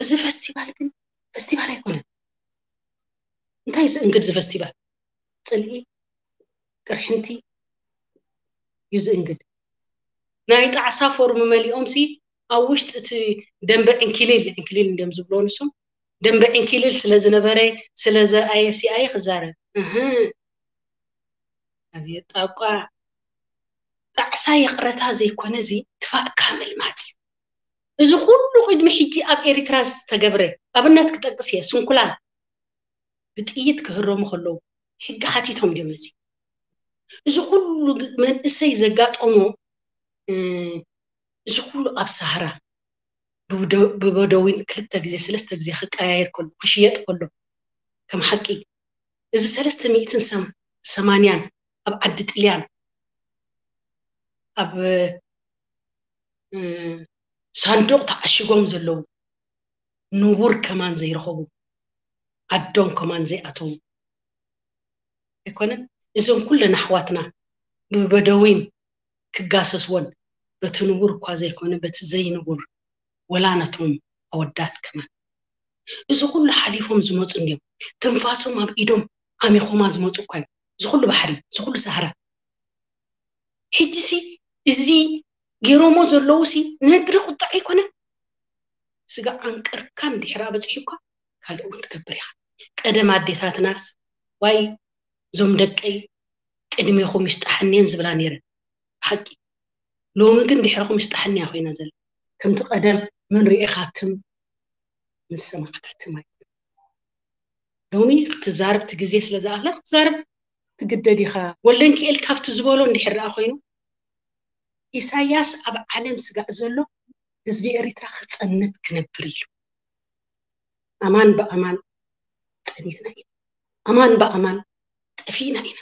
እዚ ፈስቲቫል ግን ፈስቲቫል ኣይኮነን። እንታይ ዝእንግድ እዚ ፈስቲቫል? ጽልኢ፣ ቅርሕንቲ እዩ ዝእንግድ። ናይ ጣዕሳ ፎርም መሊኦም ሲ ኣብ ውሽጢ እቲ ደንበ ዕንኪሊል፣ ዕንኪሊል እንደም ዝብሎ ንሶም፣ ደንበ ዕንኪሊል ስለ ዝነበረ፣ ስለ ዘርኣየ ሲ ኣየ ክዛረብ። እህ፣ ኣብየ ጣቋ። ጣዕሳ ይቕረታ ዘይኮነ እዚ ትፋእካ ምልማጽ እዩ። እዚ ኩሉ ቅድሚ ሕጂ ኣብ ኤሪትራ ዝተገብረ ኣብነት ክጠቅስ እየ። ስንኩላን ብጥይት ክህረሙ ከለዉ ሕጊ ሓቲቶም ድዮም ነዚ? እዚ ኩሉ መንእሰይ ዘጋጠሞ፣ እ፣ እዚ ኩሉ ኣብ ሳህራ ብበደ-፣ ብበደዊን ክልተ ግዜ ሰለስተ ግዜ ክቀያየር ከሎ፣ ክሽየጥ ከሎ፣ ከም ሓቂ እዚ ሰለስተ ሚእትን ሰም-፣ ሰማንያን ኣብ ዓዲ ጥልያን ኣብ፣ እ፣ ሳንዱቕ ተዓሺጎም ዘለዉ፣ ንቡር ከማን ዘይረኸቡ፣ ዓዶም ከማን ዘይኣተዉ ኣይኮነን። እዞም ኩለን ኣሕዋትና ብበደዊን ክጋሰስወን፣ በቲ ንቡር እኳ ዘይኮነ በቲ ዘይንቡር፣ ወላ ነቶም ኣወዳት ከማን። እዚ ኩሉ ሓሊፎም ዝመጹ እንድዮም። ትንፋሶም ኣብ ኢዶም ዓሚኾማ ዝመጹ እኳ እዮም። እዚ ኩሉ ባሕሪ፣ እዚ ኩሉ ሳህራ። ሕጂ ሲ እዚ ገይሮሞ ዘለዉ ሲ ነድሪ ቁጥዕ ኣይኮነን። ስጋ ዓንቀርካ እንድሕር ኣበጺሑ እኳ ካልእ እውን ትገብር ኢኻ። ቀደም ኣዴታትናስ ዋይ እዞም ደቀይ ቅድሜኹም ይስጣሕንየን ዝብላ ነይረን። ሓቂ። ሎሚ ግን ድሕረኹም ይስጣሕንያ ኮይና ዘላ። ከምቲ ቀደም ምን ርኢኻ ትም፣ ምን ሰማዕካ ትም ኣይኮነን። ሎሚ ክትዛረብ እቲ ግዜ ስለ ዝኣኽለ ክትዛረብ ትግደድ ኢኻ። ወልደንኪኤል ካብቲ ዝበሎ እንድሕር ደኣ ኮይኑ፣ ኢሳያስ ኣብ ዓለም ስጋእ ዘሎ ህዝቢ ኤሪትራ ክጸንት ክነብር ኢሉ። ኣማን ብኣማን ጸኒትና ኢና። ኣማን ብኣማን ጠፊእና ኢና።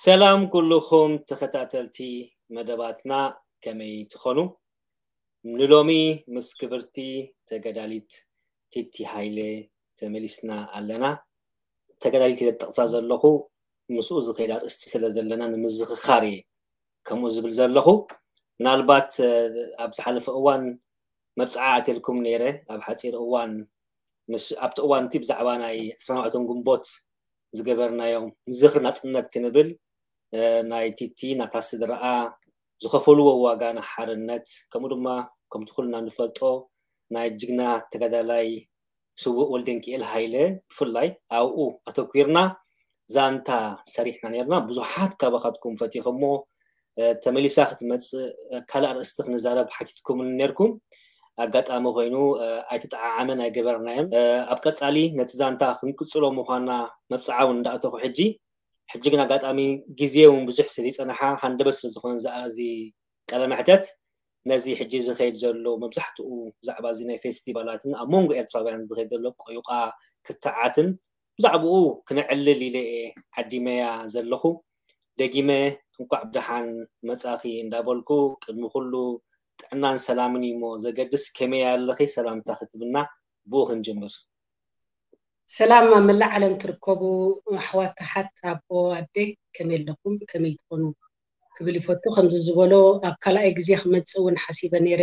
ሰላም ኩልኹም ተኸታተልቲ መደባትና፣ ከመይ ትኾኑ? ንሎሚ ምስ ክብርቲ ተጋዳሊት ቲቲ ሃይለ ተመሊስና ኣለና። ተጋዳሊት ኢለ ዝጠቕሳ ዘለኹ ምስኡ ዝኸይድ ኣርእስቲ ስለ ዘለና ንምዝኽኻር እየ ከምኡ ዝብል ዘለኹ። ምናልባት፣ እ፣ ኣብ ዝሓለፈ እዋን መብጽዓ ኣትየልኩም ነይረ። ኣብ ሓጺር እዋን ምስ፣ ኣብቲ እዋን እቲ ብዛዕባ ናይ ዕስራን ኣርባዕተን ግንቦት ዝገበርናዮም ንዝኽሪ ናጽነት ክንብል፣ እ፣ ናይ ቲቲ ናታ ስድራኣ ዝኸፈልዎ ዋጋ ንሓርነት፣ ከምኡ ድማ ከምቲ ኩልና ንፈልጦ ናይ ጅግና ተጋዳላይ ስዉእ ወልደንኪኤል ሃይለ ብፍላይ ኣብኡ ኣተኲርና ዛንታ ሰሪሕና ነርና። ብዙሓት ካባኻትኩም ፈቲኹሞ፣ እ፣ ተመሊሳ ክትመጽእ፣ እ፣ ካልእ ኣርእስቲ ክንዛረብ ሓቲትኩምኒ ነርኩም። ኣጋጣሚ ኮይኑ፣ እ፣ ኣይተጠዓዓመን ኣይገበርናዮን። እ፣ ኣብ ቀጻሊ ነቲ ዛንታ ክንቅጽሎ ምዃንና መብጽዓ እውን እንዳእተኹ ሕጂ፣ ሕጂ ግን ኣጋጣሚ ግዜ እውን ብዙሕ ስለ ዘይጸንሓ፣ ሃንደበት ስለ ዝኾነ ዝኣ-፣ እዚ ቃለ መሕተት፣ ነዚ ሕጂ ዝኸይድ ዘሎ መብዛሕትኡ ብዛዕባ እዚ ናይ ፌስቲቫላትን ኣብ መንጎ ኤርትራውያን ዝኸይድ ዘሎ ቆዩቓ ክትዓትን ብዛዕባኡ ክነዕልል ኢለ እየ ዓዲመያ ዘለኹ። ደጊመ እንኳዕ ብደሓን መጻኺ እንዳበልኩ፣ ቅድሚ ኩሉ ጥዕናን ሰላምን እዩ እሞ ዘገድስ፣ ከመይ ኣለኺ ሰላምታ ክትብልና ብኡ ክንጅምር። ሰላም ኣብ መላእ ዓለም ትርከቡ ኣሕዋት ኣሓት ኣቦ ኣደ ከመይ ኣለኹም? ከመይ ትኾኑ? ክብል ይፈቱ። ከምዚ ዝበሎ ኣብ ካልኣይ ግዜ ክመጽእ እውን ሓሲበ ነይረ።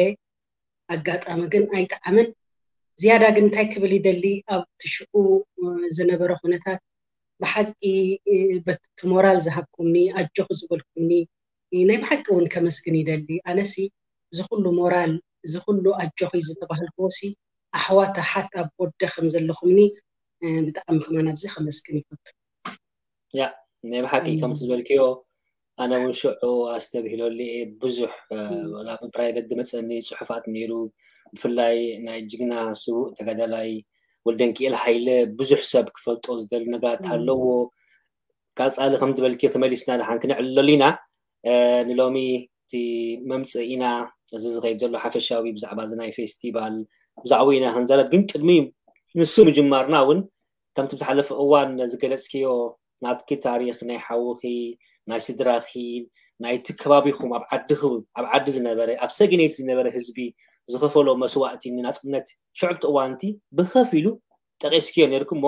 ኣጋጣሚ ግን ኣይጠዓመን። ዝያዳ ግን እንታይ ክብል ይደሊ፣ ኣብቲ ሽዑ፣ እ፣ ዝነበረ ኩነታት ብሓቂ፣ እ፣ በቲ ሞራል ዝሃብኩምኒ፣ ኣጆኺ ዝበልኩምኒ፣ እ፣ ናይ ብሓቂ እውን ከመስግን ይደሊ። ኣነሲ እዚ ኩሉ ሞራል፣ እዚ ኩሉ ኣጆኺ ዝተባህልክዎሲ ኣሕዋት ኣሓት ኣብ ወደ ከም ዘለኹምኒ፣ እ፣ ብጣዕሚ ከማን ኣብዚ ከመስግን ይፈቱ። ያ፣ ናይ ብሓቂ ከምቲ ዝበልክዮ፣ ኣነ እውን ሽዑ ኣስተብሂለሉ እየ። ብዙሕ፣ እ፣ እም። ወላ ብፕራይቬት ዝመጸኒ ጽሑፋት ነይሩ። ብፍላይ ናይ ጅግና ስዉእ ተጋዳላይ ወልደንኪኤል ሃይለ ብዙሕ ሰብ ክፈልጦ ዝደሊ ነገራት እም። ኣለዎ። ቀፃሊ ከም ዝበልኪ ተመሊስና ደሓን ክንዕልለሉ ኢና። ንሎሚ እቲ መምፅኢና እዚ ዝኸይድ ዘሎ ሓፈሻዊ ብዛዕባ እዚ ናይ ፌስቲቫል ብዛዕባኡ ኢና ክንዛረብ፣ ግን ቅድሚ ንሱ ምጅማርና እውን ከምቲ ብዝሓለፈ እዋን ዝገለፅክዮ ናትኪ ታሪክ ናይ ሓውኺ፣ ናይ ስድራኺ፣ ናይቲ ከባቢኹም ኣብ ዓድኺ፣ ኣብ ዓዲ ዝነበረ፣ ኣብ ሰገነይቲ ዝነበረ ህዝቢ ዝኸፈሎ መስዋእቲ ንናፅነት ሽዑ እቲ እዋንቲ ብኸፊሉ ጠቒስክዮ ነይርኩ እሞ፣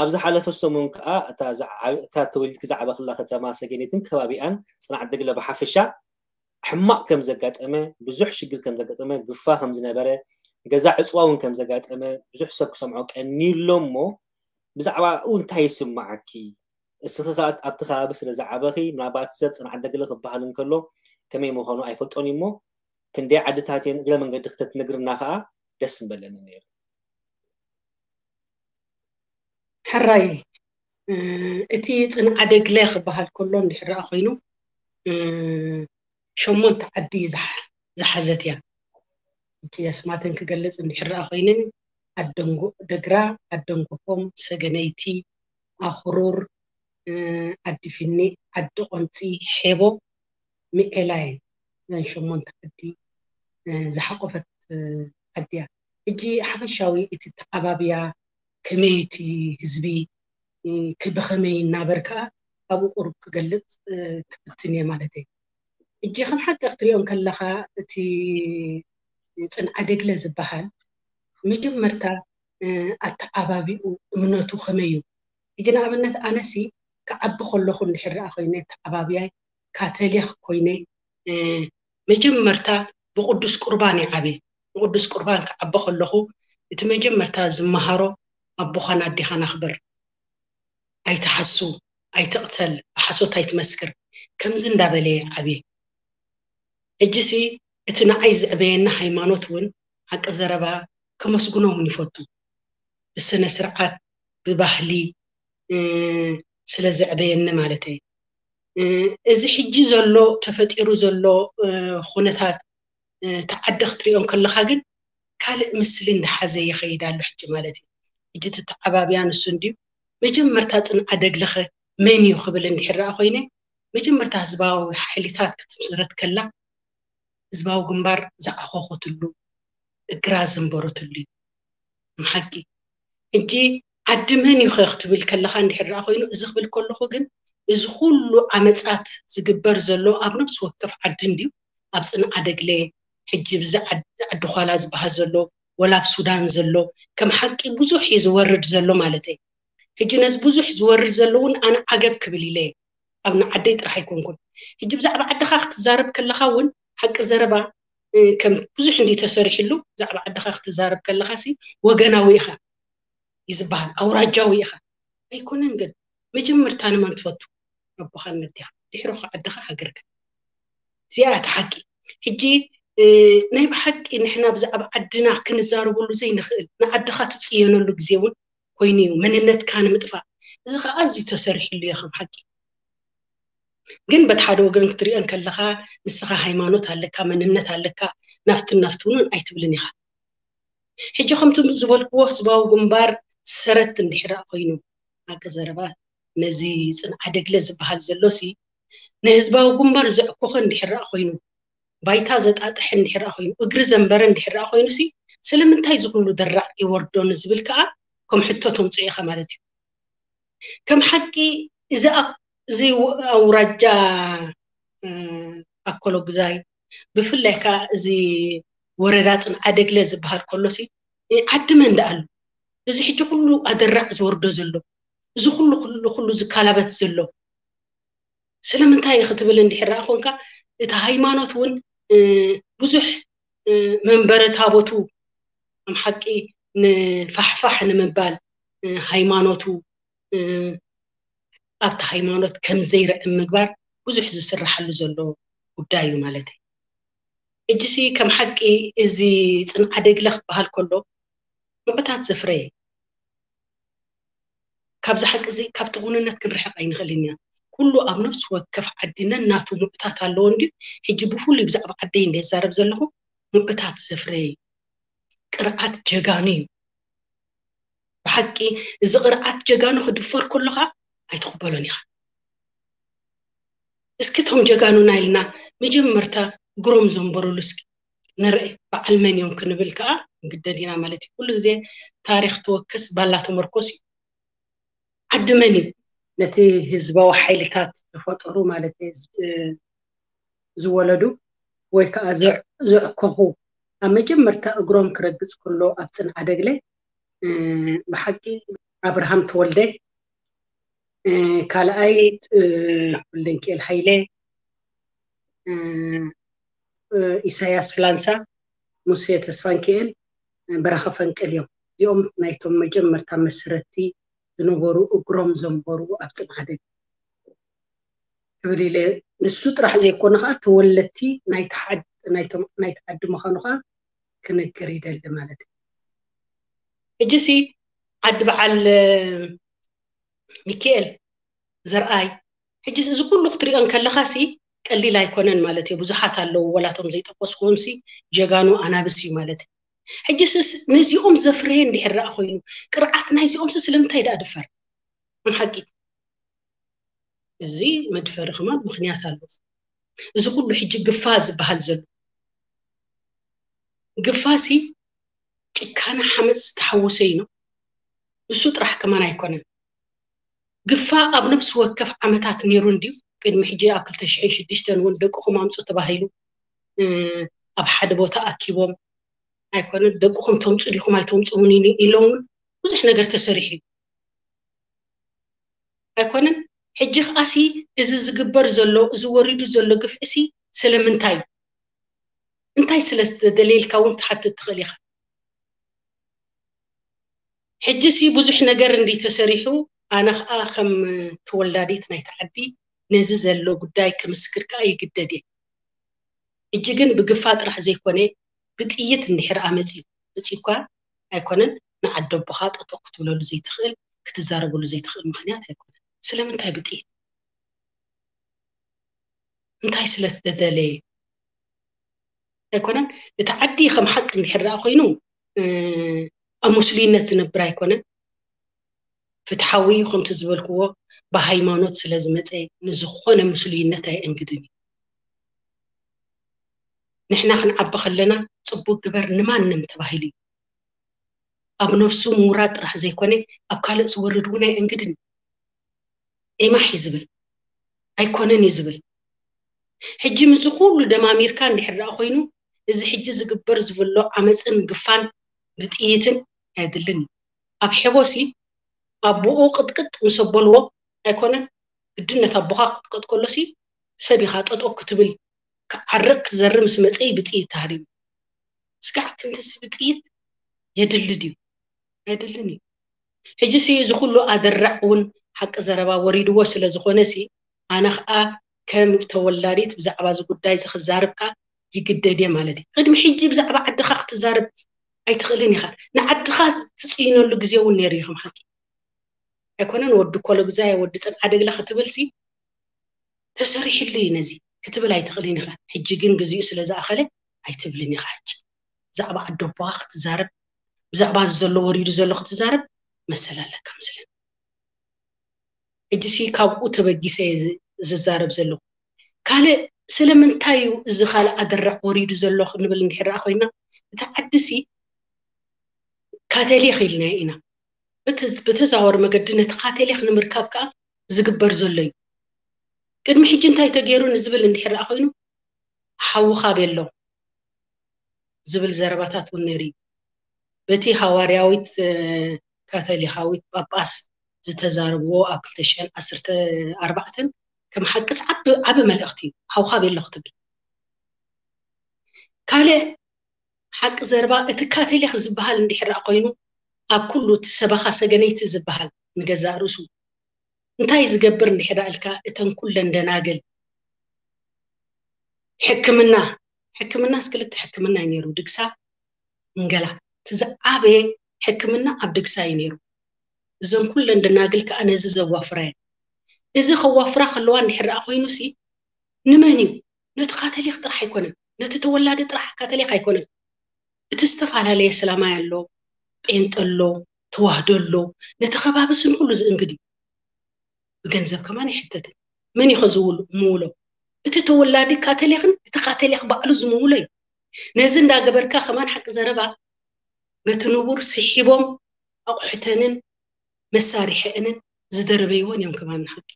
ኣብ ዝሓለፈ ሰሙን ከዓ እታ ዝዓ- እታ ተወሊድኪ ዝዓበኽላ ከተማ ሰገነይትን ከባቢኣን፣ ፅንዓት ደግለ ብሓፈሻ ሕማቕ ከም ዘጋጠመ፣ ብዙሕ ሽግር ከም ዘጋጠመ፣ ግፋ ከም ዝነበረ፣ ገዛ ዕፅዋ እውን ከም ዘጋጠመ ብዙሕ ሰብ ክሰምዖ ቀኒሎ እሞ፣ ብዛዕባኡ እንታይ ይስምዓኪ? እስኺ ከኣ ኣብቲ ከባቢ ስለ ዝዓበኺ፣ ምናልባት ሰብ ፅንዓት ደግለ ክበሃል እንከሎ ከመይ ምዃኑ ኣይፈልጦን እዩ እሞ፣ ክንደይ ዓድታት እየን እግረ መንገዲ ክተትነግርና ከኣ ደስ ምበለኒ ነይሩ። ሕራይ እቲ ፅንዓደግለ ክበሃል ከሎ እንድሕር ደኣ ኮይኑ ሸሞንተ ዓዲ ዝሓዘት እያ። እቲ ኣስማተን ክገልፅ እንድሕር ደኣ ኮይንን ዓደንጎ ደግራ፣ ዓደንጎፎም፣ ሰገነይቲ፣ ኣኽሩር፣ ዓዲ ፊኒ፣ ዓዲ ቆንፂ፣ ሔቦ፣ ሚዔላ እየን። እዘን ሸሞንተ ዓዲ ዝሓቆፈት ዓዲ እያ። ሕጂ ሓፈሻዊ እቲ ተዓባብያ ከመይ እቲ ህዝቢ ብኸመይ እናበር ከዓ ኣብኡ ቁሩብ ክገልፅ ክፍትን እየ ማለት እዩ። ሕጂ ከም ሓቂ ክትሪኦ እንከለኻ እቲ ፅንዓደግለ ዝበሃል መጀመርታ ኣተዓባቢኡ እምነቱ ከመይ እዩ? ሕጂ ንኣብነት ኣነሲ ክዓቢ ከለኹ እንድሕር ደኣ ኮይነ ኣተዓባብያይ ካቶሊክ ኮይነ መጀመርታ ብቅዱስ ቁርባን ይዓብየ። ብቅዱስ ቁርባን ክዓቢ ከለኹ እቲ መጀመርታ ዝመሃሮ ኣቦኻን ኣዴኻን ኣኽብር፣ ኣይትሓሱ፣ ኣይትቕተል፣ ብሓሶት ኣይትመስክር፣ ከምዚ እንዳበለ ይዓብየ። ሕጂሲ እቲ ንዓይ ዘዕበየኒ ሃይማኖት እውን ሓቂ ዘረባ ከመስግኖ እውን ይፈቱ። ብስነ ስርዓት ብባህሊ ስለ ዘዕበየኒ ማለት እየ። እዚ ሕጂ ዘሎ ተፈጢሩ ዘሎ ኩነታት እቲ ዓዲ ክትሪኦ እንከለኻ ግን ካልእ ምስሊ እንዳሓዘ ይኸይድ ኣሎ ሕጂ ማለት እዩ። ሕጂ እቲ ተዓባብያ ንሱ እንድዩ መጀመርታ ፅንዓደግለኸ መን እዩ ክብል እንድሕር ደኣ ኮይነ መጀመርታ ህዝባዊ ሓይልታት ክትምስረት ከላ ህዝባዊ ግንባር ዝዓኾኸትሉ እግራ ዘንበረትሉ እዩ። ንሓቂ ሕጂ ዓዲ መን እዩ ኸ ክትብል ከለኻ እንድሕር ደኣ ኮይኑ እዚ ክብል ከለኹ ግን እዚ ኩሉ ዓመፃት ዝግበር ዘሎ ኣብ ነፍሲ ወከፍ ዓዲ እንድዩ ኣብ ፅንዓደግለ ሕጂ ብዚ ዓዲ ኳላ ዝበሃል ዘሎ ወላ ኣብ ሱዳን ዘሎ ከም ሓቂ ብዙሕ እዩ ዝወርድ ዘሎ ማለት እዩ። ሕጂ ነዚ ብዙሕ ዝወርድ ዘሎ እውን ኣነ ዓገብ ክብል ኢለ እየ። ኣብ ንዓደይ ጥራሕ ኣይኮንኩን። ሕጂ ብዛዕባ ዓድኻ ክትዛረብ ከለኻ እውን ሓቂ ዘረባ ከም ብዙሕ እንዲ ተሰሪሕሉ ብዛዕባ ዓድኻ ክትዛረብ ከለኻ ሲ ወገናዊ ኢኻ እዩ ዝበሃል፣ ኣውራጃዊ ኢኻ ኣይኮነን። ግን መጀመርታ ንመን ትፈቱ? ኣቦኻን ነዴኻ፣ ድሕሪ ዓድኻ ሃገርካ። እዚኣ እቲ ሓቂ። ሕጂ ናይ ብሓቂ ንሕና ብዛዕባ ዓድና ክንዛረበሉ ዘይንኽእል ንዓድኻ ትፅየነሉ ግዜ እውን ኮይኑ እዩ መንነትካ ንምጥፋእ። እዚ ከዓ ኣዝዩ ተሰሪሕሉ እዩ ከም ሓቂ። ግን በቲ ሓደ ወገን ክትሪኦ እንከለኻ ንስኻ ሃይማኖት ኣለካ፣ መንነት ኣለካ፣ ናፍትን ናፍትውንን ኣይትብልን ኢኻ። ሕጂ ከምቲ ዝበልክዎ ህዝባዊ ግንባር ሰረት እንድሕር ኮይኑ ኣቀ ዘረባ ነዚ ፅንዓደግለ ዝበሃል ዘሎ ሲ ንህዝባዊ ግንባር ዘዕኮኸ እንድሕር ኮይኑ ባይታ ዘጣጥሐ እንድሕር ኮይኑ እግሪ ዘንበረ እንድሕር ኮይኑ ሲ ስለምንታይ ዝኩሉ ደራዕ ይወርዶ ንዝብል ከዓ ከም ሕቶ ተምፅኦ ኢኻ ማለት እዩ። ከም ሓቂ እዚ እዚ ኣውራጃ ኣኮሎ ግዛይ ብፍላይ ከዓ እዚ ወረዳ ፅንዓደግለ ዝበሃል ከሎ ሲ ዓዲ መን ደኣሉ እዚ ሕጂ ኩሉ ኣደራዕ ዝወርዶ ዘሎ እዚ ኩሉ ኩሉ ኩሉ ዝካላበት ዘሎ ስለምንታይ ክትብል እንድሕር ደኣ ኮንካ እቲ ሃይማኖት እውን ብዙሕ መንበረ ታቦቱ ከም ሓቂ ንፋሕፋሕ ንምባል ሃይማኖቱ ኣብቲ ሃይማኖት ከም ዘይርዕም ምግባር ብዙሕ ዝስራሓሉ ዘሎ ጉዳይ እዩ ማለት እዩ። እጅሲ ከም ሓቂ እዚ ፅንዓደግለ ክበሃል ከሎ ምዑታት ዘፍረየ ካብዚ ሓቂ እዚ ካብቲ ኩንነት ክንርሕቕ ኣይንኽእልን ኢና። ኩሉ ኣብ ነፍሲ ወከፍ ዓዲ ነናቱ ምዑታት ኣለዎ እንድዩ። ሕጂ ብፍሉይ ብዛዕባ ዓደይ እንደ ዝዛረብ ዘለኹ ምዑታት ዘፍረየ እዩ። ቅርዓት ጀጋኑ እዩ። ብሓቂ እዚ ቅርዓት ጀጋኑ ክድፈር ከሎ ከዓ ኣይትቕበሎን ኢኻ። እስኪ እቶም ጀጋኑና ኢልና መጀመርታ እግሮም ዘንበሩሉ እስኪ ንርአ፣ በዓል መን እዮም ክንብል ከዓ ንግደድ ኢና ማለት እዩ። ኩሉ ግዜ ታሪክ ተወከስ ባላ ተመርኮስ እዩ። ዓዲ መን እዩ? ነቲ ህዝባዊ ሓይልታት ዝፈጠሩ ማለት እዩ፣ ዝ- ዝወለዱ ወይ ከዓ ዘዕ- ዘዕከኹ ኣብ መጀመርታ እግሮም ክረግፅ ከሎ ኣብ ፅንዓደግለ እ፣ ብሓቂ ኣብርሃም ተወልደ፣ እ፣ ካልኣይ እ፣ ወልደንኪኤል ሃይለ፣ እ፣ እ፣ ኢሳያስ ፍላንሳ፣ ሙሴ ተስፋንኪኤል፣ እ፣ በረኸ ፈንቅል እዮም። እዚኦም ናይቶም መጀመርታ መስረቲ ዝነበሩ እግሮም ዘንበሩ ኣብ ፅንዓደግ ክብል ኢለ። ንሱ ጥራሕ ዘይኮነ ከዓ ተወለድቲ ናይቲ ሓድ- ናይቶም- ናይቲ ዓዲ ምዃኑ ከዓ ክነግር ይደሊ ማለት እዩ። ሕጂ ሲ ዓዲ በዓል ሚካኤል ዘርኣይ፣ ሕጂ እዚ ኩሉ ክትሪኦ እንከለኻ ሲ ቀሊል ኣይኮነን ማለት እዩ። ብዙሓት ኣለዉ፣ ወላቶም ዘይጠቀስኩዎም ሲ ጀጋኑ ኣናብስ እዩ ማለት እዩ። ሕጂ ስስ ነዚኦም ዘፍረየ እንድሕር ደኣ ኮይኑ ቅርዓት ናይዚኦም ሲ ስለምንታይ ደኣ ድፈር? ሓቂ እዚ መድፈሪ ከማን ምክንያት ኣለዎ። እዚ ኩሉ ሕጂ ግፋ ዝበሃል ዘሎ ግፋ ሲ ጭካነ ሓመፅ ዝተሓወሰ እዩ። እሱ ጥራሕ ከማን ኣይኮነን። ግፋ ኣብ ነብሲ ወከፍ ዓመታት ነይሩ እንድዩ። ቅድሚ ሕጂ ኣብ ክልተ ሽሕን ሽዱሽተን እውን ደቅኹም ኣምፁ ተባሂሉ እ፣ ኣብ ሓደ ቦታ ኣኪቦም ኣይኮነን ደቅኹም ተምፁ ዲኹም ኣይተምፁ እውን ኢሉ- ኢሎም እውን ብዙሕ ነገር ተሰሪሑ እዩ። ኣይኮነን ሕጂ ከዓሲ እዚ ዝግበር ዘሎ እዚ ወሪዱ ዘሎ ግፍዒ ሲ ስለምንታይ እንታይ ስለ ዝተደለየልካ እውን ትሓትት ትኽእል ኢኻ። ሕጂ ሲ ብዙሕ ነገር እንዲ ተሰሪሑ ኣነ ከዓ ከም ተወላዲት ናይቲ ዓዲ ነዚ ዘሎ ጉዳይ ክምስክር ከዓ ይግደድ እየ። ሕጂ ግን ብግፋ ጥራሕ ዘይኮነ ብጥይት እንድሕር ኣመፅዩ መፂኳ ኣይኮነን ንዓዲ ኣቦኻ ጠጠው ክትብለሉ ዘይትኽእል ክትዛረበሉ ዘይትኽእል ምክንያት ኣይኮነን። ስለምንታይ ብጥይት እንታይ ስለ ዝተደለየ ኣይኮነን። እቲ ዓዲ ከም ሓቂ እንድሕር ደኣ ኮይኑ ኣብ ሙስሉይነት ዝነብር ኣይኮነን። ፍትሓዊ እዩ ከምቲ ዝበልክዎ ብሃይማኖት ስለ ዝመፀ ንዝኾነ ሙስሉይነት ኣየእንግድን እዩ። ንሕና ክንዓቢ ከለና ፅቡቅ ግበር ንማንም ተባሂሉ እዩ። ኣብ ነብሱ ምውራድ ጥራሕ ዘይኮነ ኣብ ካልእ ዝወርድ እውን ኣየእንግድን እዩ። ኤማሕ እዩ ዝብል ኣይኮነን እዩ ዝብል። ሕጂ ምስዚ ኩሉ ደማሚርካ እንድሕር ደኣ ኮይኑ እዚ ሕጂ ዝግበር ዝብሎ ዓመፅን ግፋን ብጥይትን ኣየድልን እዩ። ኣብ ሐቦሲ ኣቦኡ ቅጥቅጥ ምስ ኣበልዎ ኣይኮነን ግድነት ኣቦኻ ክትቀጥ ከሎሲ ሰብ ኢኻ ጠጠው ክትብል ክዓርቅ ክዘሪ ምስ መፀ እዩ ብጥይት ተሃሪሙ። ስጋዕ ክንድዚ ብጥይት የድሊ ድዩ? ኣይድልን እዩ። ሕጂ ሲ እዚ ኩሉ ኣደራዕ እውን ሓቂ ዘረባ ወሪድዎ ስለ ዝኾነ ሲ ኣነ ከዓ ከም ተወላዲት ብዛዕባ እዚ ጉዳይ እዚ ክዛርብ ከዓ ይግደድ እየ ማለት እዩ። ቅድሚ ሕጂ ብዛዕባ ዓድኻ ክትዛርብ ኣይትኽእልን ኢኻ። ንዓድኻ ትፅይነሉ ግዜ እውን ነይሩ እዩ ከም ሓቂ ኣይኮነን። ወዲ ኮለጉዛይ ወዲ ፅንዓደግለ ክትብል ሲ ተሰሪሕሉ እዩ ነዚ ክትብል ኣይትኽእልን ኢኻ። ሕጂ ግን ግዚኡ ስለ ዝኣኸለ ኣይትብልን ኢኻ። ሕጂ ብዛዕባ ዓዲ ኣቦኻ ክትዛረብ ብዛዕባ እዚ ዘሎ ወሪዱ ዘሎ ክትዛረብ መሰል ኣለካ መስለኒ። ሕጂ ሲ ካብኡ ተበጊሰ እየ ዝ- ዝዛረብ ዘለኹ። ካልእ ስለምንታይ እዩ እዚ ካልእ ኣደራዕ ወሪዱ ዘሎ ክንብል እንድሕር ደኣ ኮይና እቲ ዓዲ ሲ ካተሊክ ኢልናዮ ኢና። ብተ- ብተዛወሪ መገዲ ነቲ ካተሊክ ንምርካብ ከዓ ዝግበር ዘሎ እዩ። ቅድሚ ሕጂ እንታይ ተገይሩ ንዝብል እንድሕር ደኣ ኮይኑ ሓውኻ ቤሎ ዝብል ዘረባታት እውን ነይሩ እዩ። በቲ ሃዋርያዊት እ፣ ካቶሊካዊት ጳጳስ ዝተዛረብዎ ኣብ ክልተ ሽሕን ዓሰርተ ኣርባዕተን ከም ሓቅስ ዓቢ ዓቢ መልእኽቲ እዩ። ሓውኻ ቤሎ ክትብል ካልእ ሓቂ ዘረባ እቲ ካቶሊክ ዝበሃል እንድሕር ደኣ ኮይኑ ኣብ ኩሉ እቲ ሰበኻ ሰገነይቲ ዝበሃል ንገዛእ ርእሱ እንታይ ዝገብር እንድሕር ደኣ ኢልካ እተን ኩለን ደናግል ሕክምና ሕክምናስ ክልተ ሕክምና እዩ ነይሩ ድግሳ እንገላ እቲ ዝዓበየ ሕክምና ኣብ ድግሳ እዩ ነይሩ እዘን ኩለን ደናግል ከዓ ነዚ ዘዋፍራ እየን እዚ ከዋፍራ ከለዋ እንድሕር ደኣ ኮይኑ ሲ ንመን እዩ ነቲ ካቶሊክ ጥራሕ ኣይኮነን ነቲ ተወላዲ ጥራሕ ካቶሊክ ኣይኮነን እቲ ዝተፈላለየ እስላማይ ኣሎ ጴንጠ ኣሎ ተዋህዶ ኣሎ ነቲ ከባቢ ስን ኩሉ ዝእንግድ እዩ ብገንዘብ ከማን ኣይሕተትን መን እዩ ከዝውሉ ምውሎ እቲ ተወላዲ ካተሊኽን እቲ ካተሊኽ ባዕሉ ዝምውሎ እዩ። ነዚ እንዳገበርካ ከማን ሓቂ ዘረባ በቲ ንቡር ስሒቦም ኣቑሑተንን መሳርሒአንን ዝደረበይዎን እዮም። ከማን ንሓቂ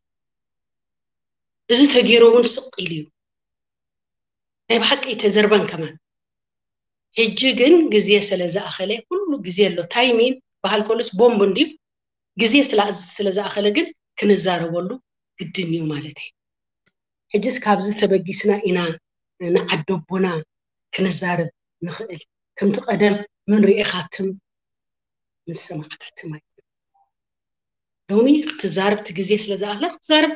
እዚ ተገይሩ እውን ስቕ ኢሉ እዩ። ናይ ብሓቂ ተዘርበን ከማን። ሕጂ ግን ግዜ ስለ ዝኣኸለ፣ ኩሉ ግዜ ኣሎ። ታይሚን በሃል ከሉስ ቦምብ እንድዩ። ግዜ ስለ ዝኣኸለ ግን ክንዛረበሉ ግድን እዩ ማለት እዩ። ሕጅስ ካብዚ ተበጊስና ኢና ንዓደቦና ክንዛረብ ንኽእል። ከምቲ ቀደም ምን ርኢኻትም ምን ሰማዕካትም ኣይኮነን። ሎሚ ክትዛረብ እቲ ግዜ ስለ ዝኣኽለ ክትዛረብ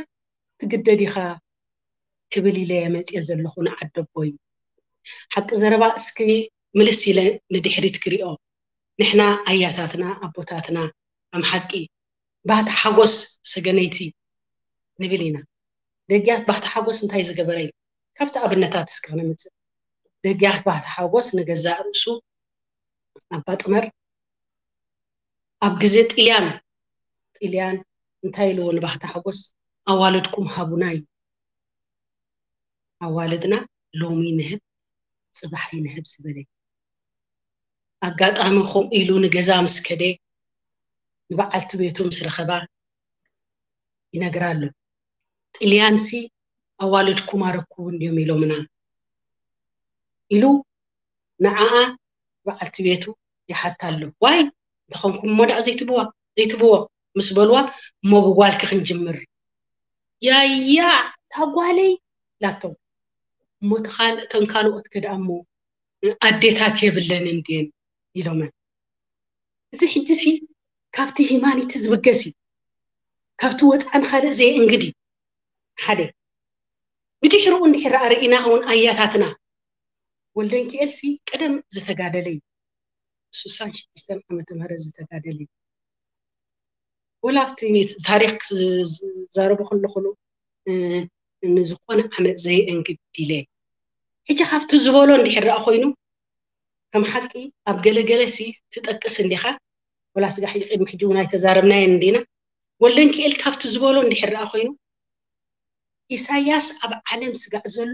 ትግደድ ኢኻ ክብል ኢለ መፅየ ዘለኹ ንዓደቦይ። ሓቂ ዘረባ እስኪ ምልስ ኢለ ንድሕሪት ክሪኦ። ንሕና ኣያታትና ኣቦታትና ኣም ሓቂ ባህቲ ሓጎስ ሰገነይቲ ንብል ኢና። ደጊያት ባህቲ ሓጎስ እንታይ ዝገበረ እዩ? ካብቲ ኣብነታት እስኪ ክነምፅእ። ደጊያት ባህቲ ሓጎስ ንገዛእ ርእሱ ኣባ ጥመር ኣብ ግዜ ጥልያን ጥልያን እንታይ ኢልዎ ንባህቲ ሓጎስ ኣዋልድኩም ሃቡና እዩ። ኣዋልድና ሎሚ ንህብ ጽባሕ ይንህብ ዝበለ ኣጋጣሚ ከምኡ ኢሉ ንገዛ ምስ ከደ ንበዓልቲ ቤቱ ምስ ረኸባ ይነግራ ኣሎ። ጥልያንሲ ኣዋልድኩም ኣረክቡ እንድዮም ኢሎምና ኢሉ ንዓኣ በዓልቲ ቤቱ ይሓታ ኣሎ። ዋይ እንተኾንኩም እሞ ደኣ ዘይትብዋ ዘይትብዎ ምስ በልዋ እሞ ብጓልኪ ክንጅምር ያያ ታጓለይ ላቶም እሞ ተን ካልኦት ከደኣ እሞ ኣዴታት የብለን እንድየን ኢሎመን። እዚ ሕጂ ሲ ካብቲ ሂማኒቲ ዝብገስ እዩ። ካብቲ ወፃኢ ንኻልእ ዘየእንግድ እዩ። ሓደ ብድሕርኡ እንድሕር ርኢና እውን ኣያታትና ወልደንኪኤል ሲ ቀደም ዝተጋደለ እዩ። ስሳን ሽዱሽተን ዓመተ ምህረት ዝተጋደለ እዩ። ወላ ኣብቲ ታሪክ ዝዛረቡ ከለኹሉ ንዝኾነ ዓመት ዘየእንግድ ኢለ ሕጂ ካብቲ ዝበሎ እንድሕር ደኣ ኮይኑ ከም ሓቂ ኣብ ገለገለ ሲ ትጠቅስ እንዲኻ ወላ ስጋ ሕጂ ቅድሚ ሕጂ እውን ኣይተዛረብናየን እንዲና ወልደንኪኤል ካብቲ ዝበሎ እንድሕር ደኣ ኮይኑ ኢሳያስ ኣብ ዓለም ስጋዕ ዘሎ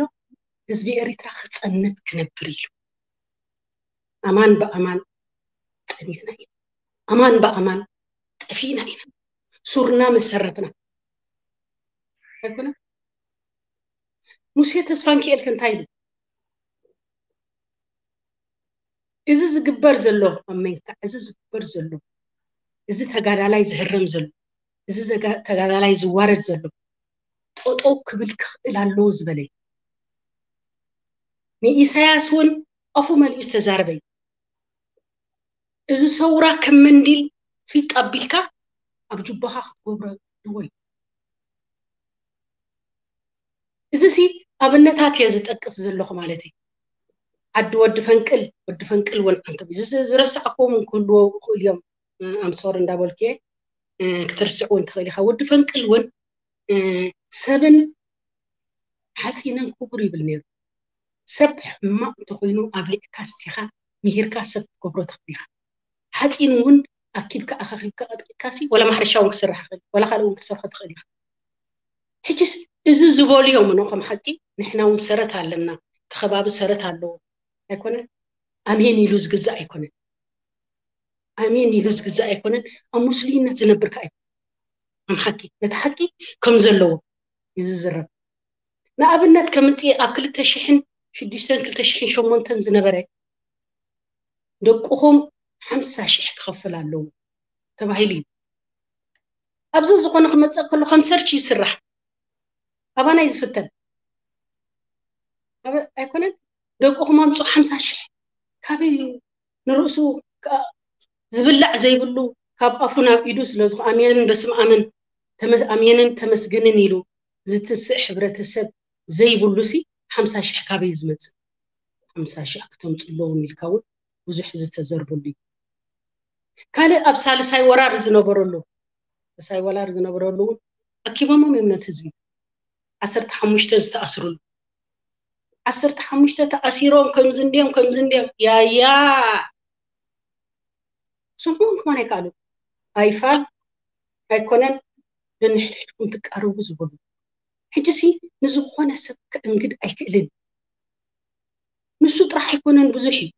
ህዝቢ ኤሪትራ ክጸንት ክነብር ኢሉ ኣማን ብኣማን ጸኒትና ኢና ኣማን ብኣማን ጠፊእና ኢና ሱርና መሰረትና ኣይኮነ ሙሴ ተስፋንኪኤል ከ እንታይ ኢሉ እዚ ዝግበር ዘሎ ኣብ መንካ እዚ ዝግበር ዘሎ እዚ ተጋዳላይ ዝህረም ዘሎ እዚ ተጋዳላይ ዝዋረድ ዘሎ ጠጠው ክብል ክኽእል ኣለዎ ዝበለ ንኢሳያስ እውን ኣፉ መሊኡ ዝተዛረበ እዩ እዚ ሰውራ ከም መንዲል ፊጥ ኣቢልካ ኣብ ጁባኻ ክትገብሮ ድወይ እዚ ሲ ኣብነታት እየ ዝጠቅስ ዘለኹ ማለት እዩ ዓዲ ወዲ ፈንቅል ወዲ ፈንቅል እውን ዓንቶም እዚ ዝረሳዕክዎም ክህልዎ ክእል እዮም ኣምሶር እንዳበልኩ ክትርስዕ እውን ትኽእል ኢኻ ወዲ ፈንቅል እውን ሰብን ሓፂንን ክቡር ይብል ነይሩ ሰብ ሕማቕ እንተኮይኑ ኣብሊዕካ ስቲኻ ምሂርካ ሰብ ክትገብሮ ትኽእል ኢኻ ሓፂን እውን ኣኪብካ ኣኻኺብካ ቀጥቂጥካሲ ወላ ማሕረሻ እውን ክስራሕ ይኽእል ወላ ካልእ እውን ክትሰርሖ ትኽእል ኢኻ ሕጂስ እዚ ዝበልዮም ኖ ከም ሓቂ ንሕና እውን ሰረት ኣለና እቲ ከባቢ ሰረት ኣለዎ ኣይኮነን ኣሜን ኢሉ ዝግዛእ ኣይኮነን ኣሜን ኢሉ ዝግዛእ ኣይኮነን ኣብ ሙስሊምነት ዝነብር ከኣ ኣይኮነን ከም ሓቂ ነቲ ሓቂ ከም ዘለዎ እዩ ዝዝረብ ንኣብነት ከምፅእ ኣብ ክልተ ሽሕን ሽዱሽተን ክልተ ሽሕን ሸሞንተን ዝነበረ ደቅኹም ሓምሳ ሽሕ ክኸፍል ኣለዎ ተባሂሉ እዩ ኣብዚ ዝኾነ ክመፀእ ከሎ ከም ሰርች ይስራሕ ኣባና እዩ ዝፍተን ኣይኮነን ደቅኹም ኣምፁ ሓምሳ ሽሕ ካበይ ንርእሱ ዝብላዕ ዘይብሉ ካብ ኣፉ ናብ ኢዱ ስለዝኾ ኣሜንን በስም ኣምን ኣሜንን ተመስግንን ኢሉ ዝትስእ ሕብረተሰብ ዘይብሉ ሲ ሓምሳ ሽሕ ካበይ ዝመፅእ ሓምሳ ሽሕ ክተምፁ ኣለዎም ኢልካ እውን ብዙሕ ዝተዘርበሉ እዩ ካልእ ኣብ ሳልሳይ ወራር ዝነበረሉ ሳልሳይ ወራር ዝነበረሉ እውን ኣኪቦሞም እዮም ነቲ ህዝቢ ዓሰርተ ሓሙሽተ ዝተኣስሩሉ ዓሰርተ ሓሙሽተ ተኣሲሮም ከምዚ እንድዮም ከምዚ እንድዮም ያያ ስምዑን ክኾን ኣይከኣሉ ኣይፋል ኣይኮነን ነንሕድሕድኩም ትቃረቡ ዝበሉ ሕጂ ሲ ንዝኾነ ሰብ ከእንግድ ኣይክእልን። ንሱ ጥራሕ ኣይኮነን፣ ብዙሕ እዩ።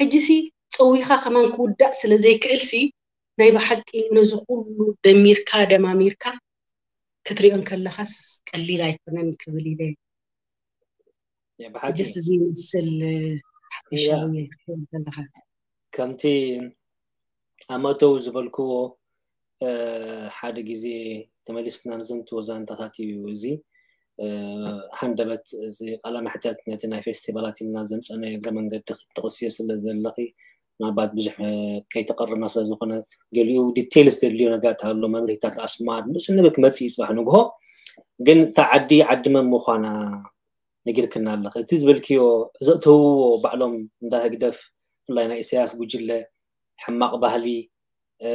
ሕጂ ሲ ጸዊኻ ከማን ክውዳእ ስለ ዘይክእል ሲ ናይ ብሓቂ ነዚ ኩሉ ደሚርካ ደማሚርካ ክትሪኦ እንከለኻስ ቀሊል ኣይኮነን ክብል ኢለ። ብሓቂ ሕጂስ እዚ ይመስል ሓፈሻዊ ክትሪኦ እንከለኻ። ከምቲ ኣብ መእተዊ ዝበልክዎ ሓደ ግዜ ተመሊስና ንዘንትዎ ዛንታታት እዩ። እዚ ሃንደበት እዚ ቃለ መሕተት ነቲ ናይ ፌስቲቫላት ኢልና ዘምፀናዮ እግረ መንገዲ ክትጥቕስዮ ስለ ዘለኺ ምናልባት ብዙሕ ከይተቐርና ስለ ዝኾነ ገሊኡ ዲቴይልስ ዘድልዮ ነገራት ኣሎ፣ መብርሂታት ኣስማት ንሱ ነገር ክመፅእ እዩ ፅባሕ ንግሆ። ግን እታ ዓዲ ዓዲ መን ምዃና ነጊርክና ኣለኺ። እቲ ዝበልክዮ ዘእተውዎ ባዕሎም እንዳ ህግደፍ ብፍላይ ናይ ኢሳያስ ጉጅለ ሕማቕ ባህሊ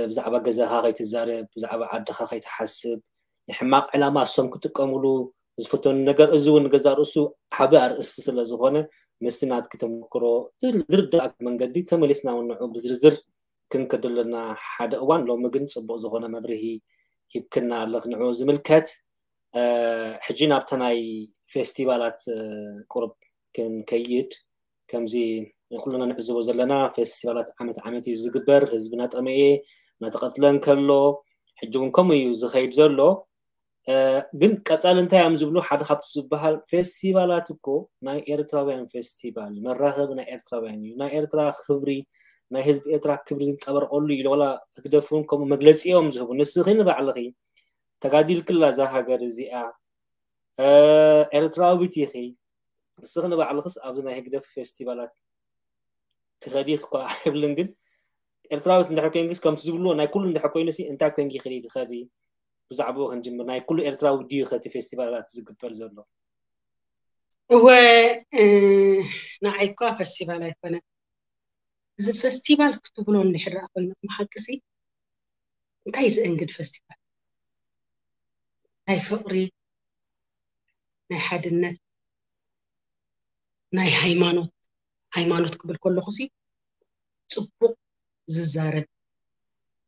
ብዛዕባ ገዛኻ ከይትዛረብ፣ ብዛዕባ ዓድኻ ከይትሓስብ፣ ንሕማቕ ዕላማ እሶም ክጥቀምሉ ዝፍተኑ ነገር፣ እዚ እውን ንገዛእ ርእሱ ዓቢ ኣርእስቲ ስለ ዝኾነ ምስቲ ናትኪ ተመክሮ ዝርዳእኪ መንገዲ ተመሊስና እውን ንዑ ብዝርዝር ክንከደለና ሓደ እዋን። ሎሚ ግን ጽቡቕ ዝኾነ መብርሂ ሂብክና ኣለኽ ንዑ ዝምልከት። ሕጂ ናብታ ናይ ፌስቲቫላት ቁሩብ ክንከይድ። ከምዚ ኩልና ንዕዝቦ ዘለና ፌስቲቫላት ዓመት ዓመት እዩ ዝግበር። ህዝቢ እናጠመየ እናተቐትለ እንከሎ ሕጂ እውን ከምኡ እዩ ዝኸይድ ዘሎ። ግን ቀፃሊ እንታይ እዮም ዝብሉ? ሓደ ካብቲ ዝበሃል ፌስቲቫላት እኮ ናይ ኤርትራውያን ፌስቲቫል መራኸቢ ናይ ኤርትራውያን እዩ። ናይ ኤርትራ ክብሪ ናይ ህዝቢ ኤርትራ ክብሪ ዝንፀበርቀሉ እዩ። ዋላ ህግደፍ እውን ከምኡ መግለፂ እዮም ዝህቡ። ንስኺ ንባዕልኺ ተጋዲልክላ እዛ ሃገር እዚኣ ኤርትራዊት ኢኺ። ንስኺ ንባዕልኽስ ኣብዚ ናይ ህግደፍ ፌስቲቫላት ትኸዲ እኳ ኣይብልን፣ ግን ኤርትራዊት እንድሕር ኮይንክስ ከምቲ ዝብልዎ ናይ ኩሉ እንድሕር ኮይኑ ሲ እንታይ ኮይንኪ ኢኺ ትኸዲ? ብዛዕባኡ ክንጅምር፣ ናይ ኩሉ ኤርትራዊ ድዩ ኸ እቲ ፌስቲቫላት ዝግበር ዘሎ? እወ ንዓይ እኳ ፌስቲቫል ኣይኮነን። እዚ ፌስቲቫል ክትብሎ እንድሕር ደኣ ኮይኑ ብሓቂ ሲ እንታይ ዘእንግድ ፌስቲቫል? ናይ ፍቕሪ፣ ናይ ሓድነት፣ ናይ ሃይማኖት፣ ሃይማኖት ክብል ከለኹ ሲ ጽቡቕ ዝዛረብ፣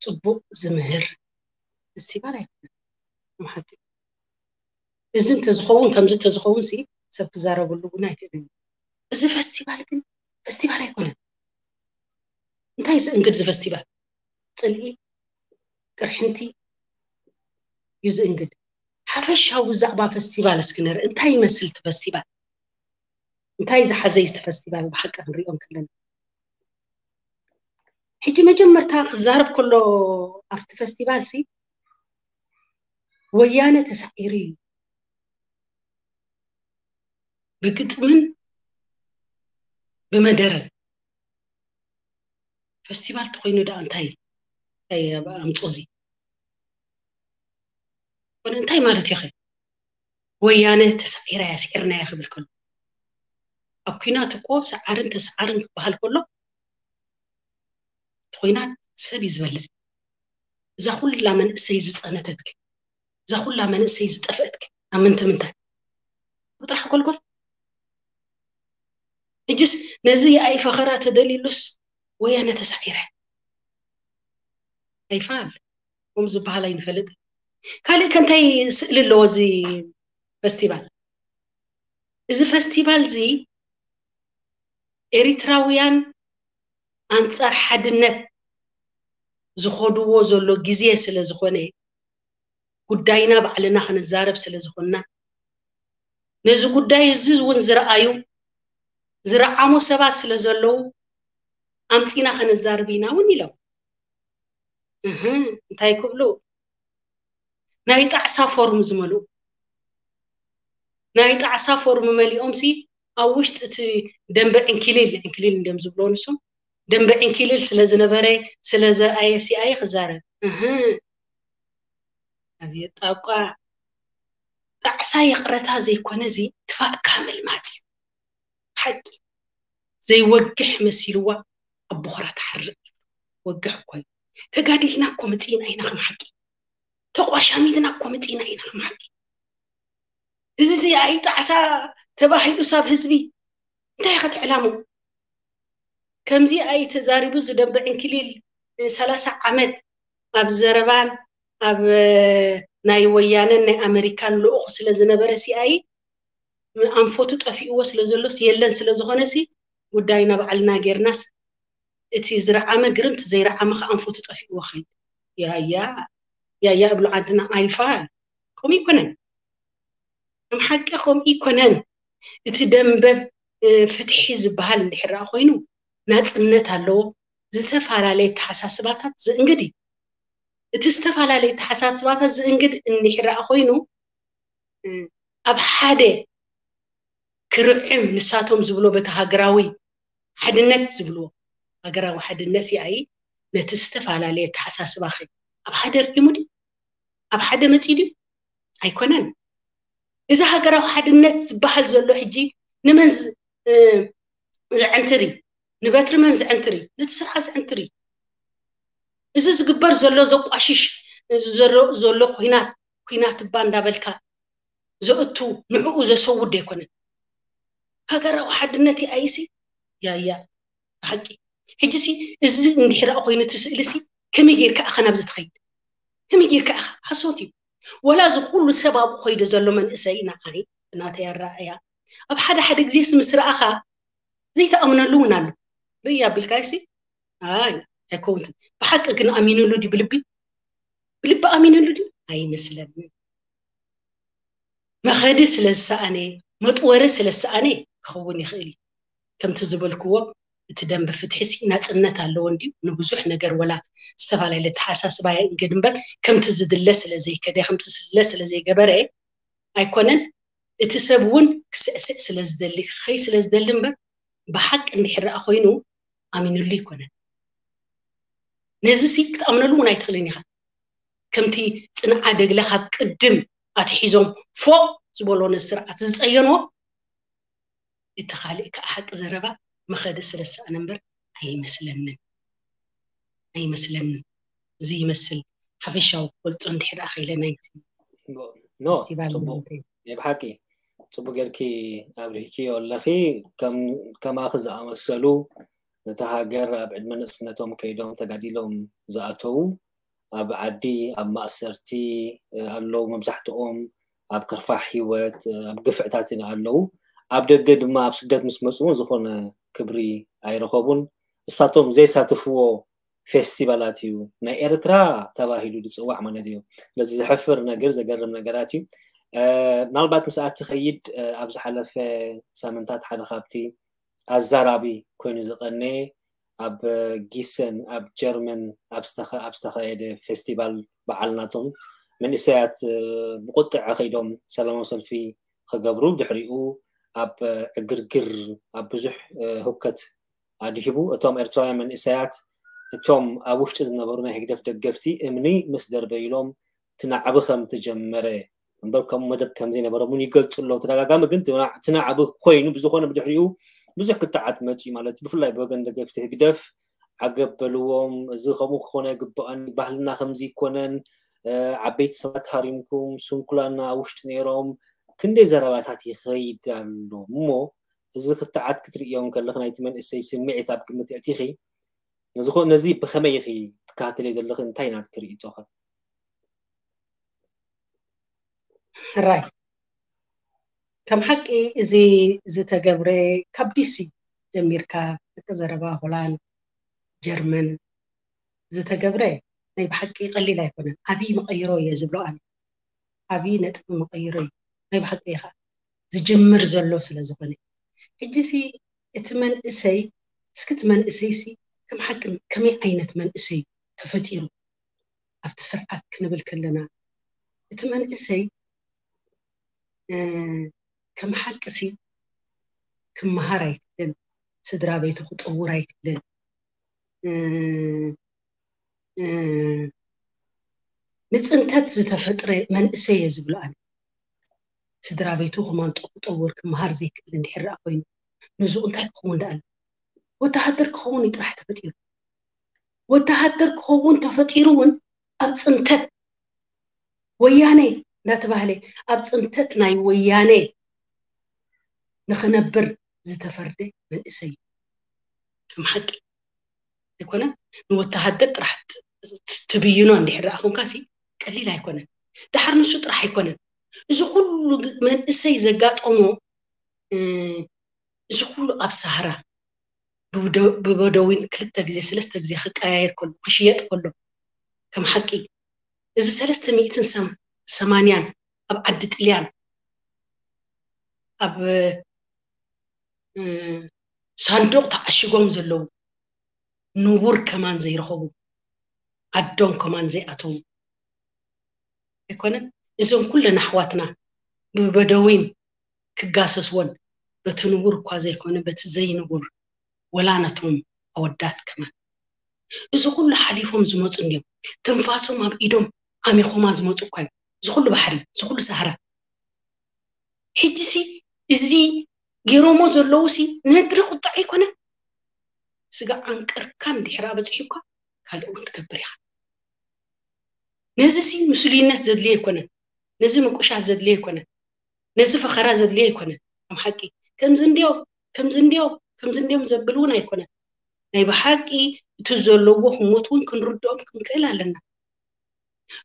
ጽቡቕ ዝምህር ፌስቲቫል ኣይኮነን። ሓቂ እዚ እንተዝኸውን ከምዚ እንተዝኸውን ሲ ሰብ ክዛረበሉ እውን ኣይክእልን። እዚ ፌስቲቫል ግን ፌስቲቫል ኣይኮነን። እንታይ ዝእንግድ እዚ ፌስቲቫል? ጽልኢ፣ ቅርሕንቲ እዩ ዝእንግድ። ሓፈሻዊ ብዛዕባ ፌስቲቫል እስኪ ንርኢ። እንታይ ይመስል እቲ ፌስቲቫል? እንታይ ዝሓዘ እዩ እቲ ፌስቲቫል ብሓቂ ክንሪኦ እንከለና? ሕጂ መጀመርታ ክዛረብ ከሎ ኣብቲ ፌስቲቫል ሲ ወያነ ተሳዒሩ እዩ ብግጥምን ብመደረን። ፌስቲቫል ተኮይኑ ደኣ እንታይ ኣምፅኦ እዚ? ኮነ እንታይ ማለት እዩ? ወያነ ተሳዒራ እያ፣ ስዒርና እያ ክብል ከሎ ኣብ ኩናት እኮ ሰዓርን ተሰዓርን ክበሃል ከሎ እቲ ኩናት ሰብ እዩ ዝበልዕ። እዛ ኩላ መንእሰይ ዝፀነተት ግን እዛ ኩላ መንእሰይ ዝጠፍአት ግን ኣብ ምንቲ ምንታይ ጥራሕ ጎልጎል? ሕጅስ ነዚ የኣይ ፈኸራ ተደልዩሉስ ወያነ ተሳዒረ ኣይፋል ከም ዝበሃል ኣይንፈልጥ። ካልእ ከንታይ ስእሊ ኣለዎ እዚ ፈስቲቫል? እዚ ፈስቲቫል እዚ ኤሪትራውያን ኣንጻር ሓድነት ዝኸድዎ ዘሎ ግዜ ስለ ዝኾነ ጉዳይና ባዕልና ክንዛረብ ስለ ዝኾንና ነዚ ጉዳይ እዚ እውን ዝረኣዩ ዝረዓሙ ሰባት ስለ ዘለዉ ኣምጺና ከነዛርብ ኢና እውን ኢሎም። እህ እንታይ ክብሉ ናይ ጣዕሳ ፎርም ዝመልኡ ናይ ጣዕሳ ፎርም መሊኦም ሲ ኣብ ውሽጢ እቲ ደንበ ዕንኪሊል ዕንኪሊል እንዲም ዝብሎ ንሶም ደንበ ዕንኪሊል ስለ ዝነበረ ስለ ዘርኣየ ሲኣየ ክዛረብ እህ ኣብየት ጣቋ ጣዕሳ ይቕረታ ዘይኮነ እዚ ትፋእካ ምልማፅ እዩ ሓቂ ዘይወግሕ መሲልዋ ኣብ ቦኽራ ትሓርቕ ወግሕ እኮ እዩ ተጋዲልና እኮ መፂእና ኢና ከም ሓቂ ተቋሻሚልና እኮ መፂእና ኢና ከም ሓቂ እዚ እዚ ኣይጣዕሳ ተባሂሉ ሳብ ህዝቢ እንታይ ኢኻ ትዕላሙ ከምዚ ኣይተዛሪቡ ዝደንበ ዕንክሊል ሰላሳ ዓመት ኣብ ዘረባን ኣብ ናይ ወያነን ናይ ኣመሪካን ልኡኹ ስለ ዝነበረ ሲኣይ ኣንፈቱ ጠፊእዎ ስለ ዘሎስ የለን ስለ ዝኾነሲ ጉዳይና ባዕልና ጌርናስ እቲ ዝረዓመ ግርምቲ ዘይረዓመ ከ ኣንፈቱ ጠፊእዎ ኸይድ ያያ ያያ እብሉ ዓድና ኣይፋል። ከምኡ ይኮነን። ከም ሓቂ ከምኡ ይኮነን። እቲ ደንበ ፍትሒ ዝበሃል እንድሕር ኮይኑ ናፅነት ኣለዎ። ዝተፈላለየ ተሓሳስባታት ዝእንግድ እዩ። እቲ ዝተፈላለየ ተሓሳስባታት ዝእንግድ እንድሕር ኮይኑ ኣብ ሓደ ክርዕም ንሳቶም ዝብሎ በቲ ሃገራዊ ሓድነት ዝብልዎ ሃገራዊ ሓድነት ይኣይ ነቲ ዝተፈላለየ ተሓሳስባ ኸ ኣብ ሓደ ርዒሙ ድዩ ኣብ ሓደ መፂ ድዩ ኣይኮነን። እዚ ሃገራዊ ሓድነት ዝበሃል ዘሎ ሕጂ ንመን ዘዕንትሪ ንበትሪ መን ዘዕንትሪ ነቲ ስርዓት ዘዕንትሪ እዚ ዝግበር ዘሎ ዘቋሽሽ ዘሎ ኩናት ኩናት እባ እንዳበልካ ዘእቱ ንዕኡ ዘሰውድ ኣይኮነን። ሃገራዊ ሓድነት ይኣይሲ ያያ ሓቂ ሕጂ ሲ እዚ እንድሕር ኮይኑ እቲ ስእሊ ሲ ከመይ ጌርካ ኢኻ ናብዚ ትኸይድ? ከመይ ጌርካ ኢኻ? ሓሶት እዩ። ወላ እዚ ኩሉ ሰብ ኣብኡ ከይዱ ዘሎ መንእሰይ ንዓይ ብናተይ ኣረኣእያ ኣብ ሓደ ሓደ ግዜስ ምስ ረኣኻ ዘይተኣምነሉ እውን ኣሎ። ርእይ ኣቢልካዮ ሲ ኣይ ኣይከውንትን። ብሓቂ ግን ኣሚኑሉ ድዩ ብልቢ? ብልቢ ኣሚኑሉ ድዩ? ኣይመስለንን። መኸዲ ስለ ዝሰኣነ መጥወሪ ስለ ዝሰኣነ ክኸውን ይኽእል እዩ። ከምቲ ዝበልክዎ እቲ ደንበ ፍትሒ ሲ ናፅነት ኣለዎ እንድዩ ንብዙሕ ነገር ወላ ዝተፈላለየ ተሓሳስባ የእንግድ እምበር ከምቲ ዝድለ ስለ ዘይከደ ከምቲ ዝድለ ስለ ዘይገበረ ኣይኮነን። እቲ ሰብ እውን ክስዕስዕ ስለ ዝደሊ ክኸይ ስለ ዝደሊ እምበር ብሓቂ እንድሕር ደኣ ኮይኑ ኣሚኑሉ ኣይኮነን። ነዚ ሲ ክትኣምነሉ እውን ኣይትኽልን ኢኻ። ከምቲ ፅንዓ ደግለ ካብ ቅድም ኣትሒዞም ፎቕ ዝበሎ ነዚ ስርዓት ዝፀየንዎ እቲ ካልእ ከዓ ሓቂ ዘረባ መኸዲ ስለ ዝሰኣነ እምበር ኣይመስለንን ኣይመስለንን። እዚ ይመስል ሓፈሻዊ ክገልፆ እንድሕር ደኣ ከይለ ናይ ኖ ፌስቲቫል ጽቡቅ ማለት እዩ። ናይ ብሓቂ ጽቡቅ ጌርኪ ኣብሪህኪዮ ኣለኺ። ከም ከማኺ ዝኣመሰሉ ነታ ሃገር ኣብ ዕድመ ንእስነቶም ከይዶም ተጋዲሎም ዝኣተዉ ኣብ ዓዲ ኣብ ማእሰርቲ ኣለዉ። መብዛሕትኦም ኣብ ከርፋሕ ህይወት ኣብ ግፍዕታት ኢና ኣለዉ። ኣብ ደገ ድማ ኣብ ስደት ምስ መፁ እውን ዝኾነ ክብሪ ኣይረኸቡን። እሳቶም ዘይሳትፍዎ ፌስቲቫላት እዩ ናይ ኤርትራ ተባሂሉ ዝፅዋዕ ማለት እዩ። ስለዚ ዘሕፍር ነገር ዘገርም ነገራት እዩ። ምናልባት ምስኣ ትኸይድ ኣብ ዝሓለፈ ሳምንታት ሓደ ካብቲ ኣዛራቢ ኮይኑ ዝቐነየ ኣብ ጊሰን ኣብ ጀርመን ኣብ ዝተኻየደ ፌስቲቫል በዓል ናቶም መንእሰያት ብቁጥዐ ከይዶም ሰላማዊ ሰልፊ ክገብሩ ድሕሪኡ ኣብ ዕግርግር ኣብ ብዙሕ ህውከት ኣድሂቡ እቶም ኤርትራውያን መንእሰያት እቶም ኣብ ውሽጢ ዝነበሩ ናይ ህግደፍ ደገፍቲ እምኒ ምስ ደርበይሎም ትናዕቢ ከም ተጀመረ እምበር ከምኡ መደብ ከም ዘይነበሮም እውን ይገልፁ ኣለዉ ተደጋጋሚ ግን ትናዕቢ ኮይኑ ብዝኾነ ብድሕሪኡ ብዙሕ ክትዓት መፅኡ ማለት ብፍላይ ብወገን ደገፍቲ ህግደፍ ዓገብ በልዎም እዚ ከምኡ ክኾነ ግበኣን ባህልና ከምዚ ይኮነን ዓበይቲ ሰባት ሃሪምኩም ስንኩላና ውሽጢ ነይሮም ክንደይ ዘረባታት ይኸይድ ኣሎ እሞ እዚ ክትዓት ክትርእዮ ከለኺ ናይቲ መንእሰይ ስምዒት ኣብ ግምት የእቲኺ ነዚ ብኸመይ ኢኺ ትከታተልዮ ዘለኺ እንታይ ናትኪ ርእይቶኸ? ሕራይ ከም ሓቂ እዚ ዝተገብረ ካብ ዲሲ ጀሚርካ ደቂ ዘረባ ሆላንድ ጀርመን ዝተገብረ ናይ ብሓቂ ቀሊል ኣይኮነን። ዓብዪ መቐይሮ እየ ዝብሎ ኣነ። ዓብዪ ነጥቢ መቐይሮ እዩ ናይ ብሓቂ እዩ ከዓ ዝጅምር ዘሎ ስለ ዝኾነ ሕጂ ሲ እቲ መንእሰይ እስኪ እቲ መንእሰይ ሲ ከም ሓቂ ከመይ ዓይነት መንእሰይ ተፈጢሩ ኣብቲ ስርዓት ክንብል ከለና እቲ መንእሰይ ከም ሓቂ ሲ ክመሃር ኣይክልን ስድራ ቤቱ ክጠውር ኣይክልን ንፅንተት ዝተፈጥረ መንእሰይ እየ ዝብሎ ኣነ ስድራ ቤቱ ክማንጦ ክጠውር ክመሃር ዘይክእል እንድሕር ደኣ ኮይኑ ንዝኡ እንታይ ክኸውን ደኣ ኣሎ ወተሃደር ክኸውን እዩ ጥራሕ ተፈጢሩ ወተሃደር ክኸውን ተፈጢሩ እውን ኣብ ፅንተት ወያነ እንዳተባህለ ኣብ ፅንተት ናይ ወያነ ንኽነብር ዝተፈርደ መንእሰይ እዩ ከም ሓቂ ኣይኮነ ንወተሃደር ጥራሕ ትብይኖ እንድሕር ደኣ ኮንካ ሲ ቀሊል ኣይኮነን። ድሓር ንሱ ጥራሕ ኣይኮነን፣ እዚ ኩሉ መንእሰይ ዘጋጠሞ፣ እዚ ኩሉ ኣብ ሳህራ ብበደዊን ክልተ ግዜ ሰለስተ ግዜ ክቀያየር ከሎ፣ ክሽየጥ ከሎ፣ ከም ሓቂ እዚ ሰለስተ ሚእትን ሰማንያን ኣብ ዓዲ ጥልያን ኣብ ሳንዱቕ ተዓሽጎም ዘለዉ፣ ንቡር ከማን ዘይረኸቡ፣ ዓዶም ከማን ዘይኣተዉ ኣይኮነን። እዞም ኩለን ኣሕዋትና ብበደዊን ክጋሰስወን፣ በቲ ንቡር እኳ ዘይኮነ በቲ ዘይንቡር፣ ወላ ነቶም ኣወዳት ከማን፣ እዚ ኩሉ ሓሊፎም ዝመፁ እንዲዮም። ትንፋሶም ኣብ ኢዶም ዓሚኾማ ዝመፁ እኳ እዮም። እዚ ኩሉ ባሕሪ፣ እዚ ኩሉ ሳህራ። ሕጂሲ እዚ ገይሮሞ ዘለዉሲ ነድሪ ቁጣዕ ኣይኮነን። ስጋ ዓንቀርካ እንድሕር ኣበፂሑካ ካልእ እውን ትገብር ኢኻ። ነዚሲ ምስሉይነት ዘድልዮ ኣይኮነን። ነዚ ምቁሻት ዘድልዮ ኣይኮነን። ነዚ ፈኸራ ዘድልዮ ኣይኮነን። ከም ሓቂ ከምዚ እንድዮም፣ ከምዚ እንድዮም፣ ከምዚ እንድዮም ዘብል እውን ኣይኮነን። ናይ ብሓቂ እቲ ዘለዎ ህሞት እውን ክንርድኦም ክንክእል ኣለና።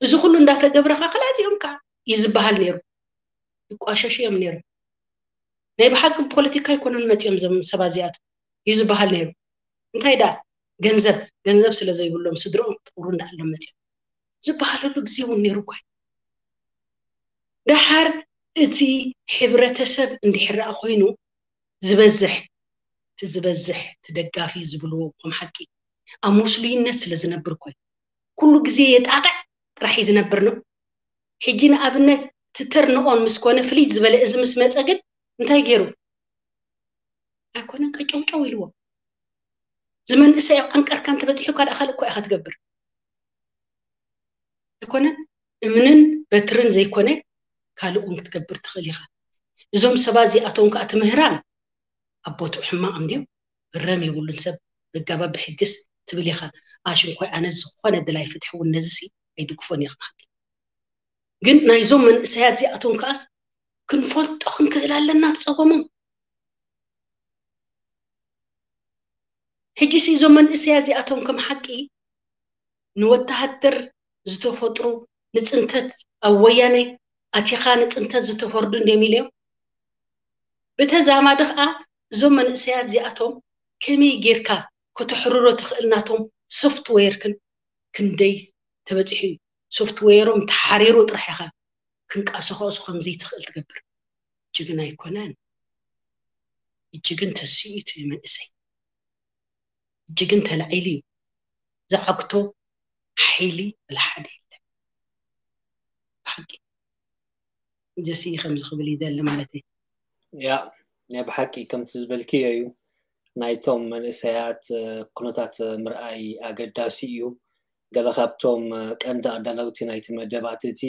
እዚ ኩሉ እንዳተገብረ ከ ክላዚኦም ከዓ እዩ ዝበሃል ነይሩ። ይቋሸሹ እዮም ነይሩ። ናይ ብሓቂ ፖለቲካ ኣይኮነን መፂኦም ዞም ሰባት እዚኣቶም እዩ ዝበሃል ነይሩ። እንታይ ደኣ ገንዘብ ገንዘብ ስለ ዘይብሎም ስድርኦም ክጥሩ እንዳኣሎም መፂኦም ዝበሃለሉ ግዜ እውን ነይሩ እኳ እዩ። ደሓር እቲ ሕብረተሰብ እንድሕር ደኣ ኮይኑ ዝበዝሕ እቲ ዝበዝሕ እቲ ደጋፊ ዝብልዎ ከም ሓቂ ኣብ ምስሉይነት ስለ ዝነብር እኳ እዩ። ኩሉ ግዜ የጣቕዕ ጥራሕ እዩ ዝነብር ነው። ሕጂ ንኣብነት እቲ ተርንኦን ምስ ኮነ ፍልይ ዝበለ እዚ ምስ መፀ ግን እንታይ ገይሩ ኣይኮነን ቀጨውጨው ኢልዎ። ዝመንእሰይ ኣብ ዓንቀርካ እንተበፂሑካ ደኣ ካልእ እኳ ኢኻ ትገብር። ኣይኮነን እምንን በትርን ዘይኮነ ካልእ እውን ክትገብር ትኽእል ኢኻ። እዞም ሰባት እዚኣቶም ከዓ ትምህራም ኣብ ቦትኡ ሕማቕ እንድዩ። ግረም የብሉን ሰብ ዘጋባብ ብሕግስ ትብል ኢኻ። ኣሽንኳይ ኣነ ዝኾነ ድላይ ፍትሒ እውን ነዚ ሲ ኣይድግፎን እየ ክብሃልኪ። ግን ናይዞም መንእሰያት እዚኣቶም ከዓስ ክንፈልጦ ክንክእል ኣለና ትፀገሞም። ሕጂ ሲ እዞም መንእሰያት እዚኣቶም ከም ሓቂ ንወተሃደር ዝተፈጥሩ ንፅንተት ኣብ ወያነ ኣቲኻ ንፅንተት ዝተፈርዱ እንድዮም ኢልዮም። ብተዛማዲ ከዓ እዞም መንእሰያት እዚኣቶም ከመይ ጌርካ ከተሕርሮ ትኽእል ናቶም ሶፍትዌር ክን ክንደይ ተበፂሑ እዩ። ሶፍትዌሮም ተሓሪሩ ጥራሕ ኢኻ ክንቀሳቐሱ ከም ዘይትኽእል ትገብር። ጅግና ኣይኮነን። እጅግን ተስኢቱ እዩ መንእሰይ። እጅግን ተላዒሉ እዩ። ዝዓግቶ ሓይሊ ወላ ሓደ የለን። ብሓቂ ጀሲ ከምዚ ክብል ይደሊ ማለት እዩ። ያ ናይ ብሓቂ ከምቲ ዝበልክዮ እዩ። ናይቶም መንእሰያት ኩነታት ምርኣይ ኣገዳሲ እዩ። ገለ ካብቶም ቀንዲ ኣዳለውቲ ናይቲ መደባት እቲ